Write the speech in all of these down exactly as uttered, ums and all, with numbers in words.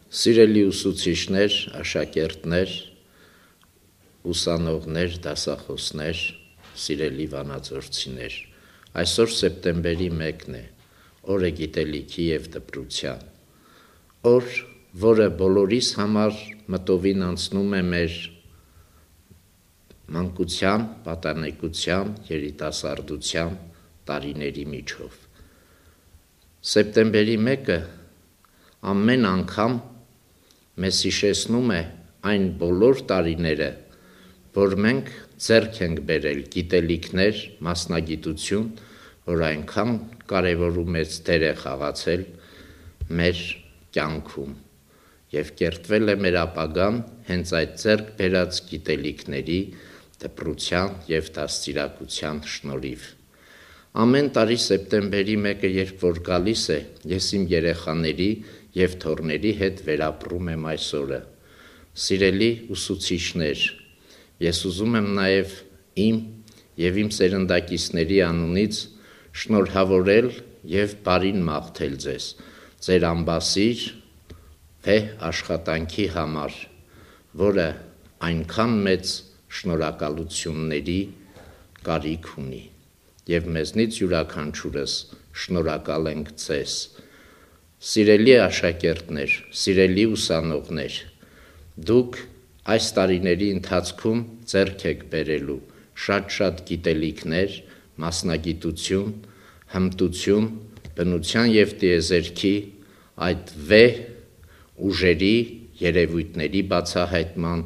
Սիրելի ուսուցիչներ, աշակերտներ, ուսանողներ, դասախոսներ, սիրելի վանաձորցիներ, այսօր սեպտեմբերի մեկն է, օրը գիտելիքի և դպրության, օր, որը բոլորիս համար մտովին անցնում է մեր մանկության, պատանեկության, երիտասարդության տարիների միջով։ Սեպտեմբերի մեկը ամեն անգամ մեզ հիշեցնում է այն բոլոր տարիները, որ մենք ձեռք ենք բերել գիտելիքներ, մասնագիտություն, որ այնքան կարևոր ու մեծ դեր է խաղացել մեր կյանքում և կերտվել է մեր ապագան հենց այդ ձեռք բերած գիտելիքների, դպրության և դաստիարակության շնորհիվ։ Ամեն տարի սեպտեմբերի մեկը երբ որ գալիս է, ես իմ երեխաների և թոռների հետ վերապրում եմ այս օրը։ Սիրելի ուսուցիչներ, ես ուզում եմ նաև իմ և իմ սերնդակիցների անունից շնորհավորել և բարին մաղթել ձեզ, ձեր անբասիր վեհ աշխատանքի համար, որը այնքան մեծ շնորհակալությունների կարիք ունի, և մեզնից յուրաքանչյուրս շնորհակալ ենք ձեզ։ Սիրելի աշակերտներ, սիրելի ուսանողներ, դուք այս տարիների ընթացքում ձեռք եք բերելու շատ-շատ գիտելիքներ, մասնագիտություն, հմտություն, բնության և տիեզերքի այդ վեհ ուժերի, երևույթների բացահայտման,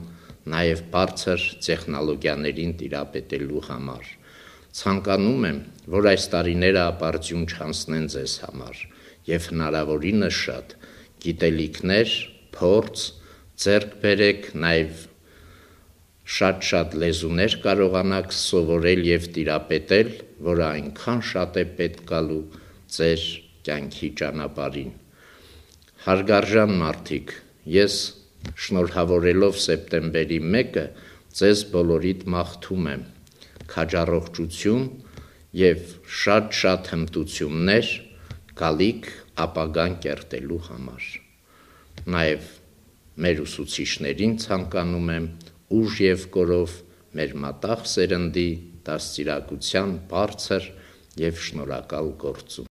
նաև բարձր տեխնոլոգիաներին տիրապետելու համար։ Ցանկանում եմ, որ այս տարիները ապարդյուն չանցնեն ձեզ համար և հնարավորինս շատ գիտելիքներ, փորձ ձեռք բերեք, նաև շատ-շատ լեզուներ կարողանաք սովորել և տիրապետել, որը այնքան շատ է պետք գալու ձեր կյանքի ճանապարհին։ Հարգարժան մարդիկ, ես շնորհավորելով սեպտեմբերի մեկը ձեզ բոլորիդ մաղթում եմ քաջառողջություն և շատ-շատ հմտություններ գալիք ապագան կերտելու համար։ Նաև մեր ուսուցիչներին ցանկանում եմ ուժ և կորով մեր մատաղ սերնդի դաստիարակության բարձր և շնորհակալ գործում։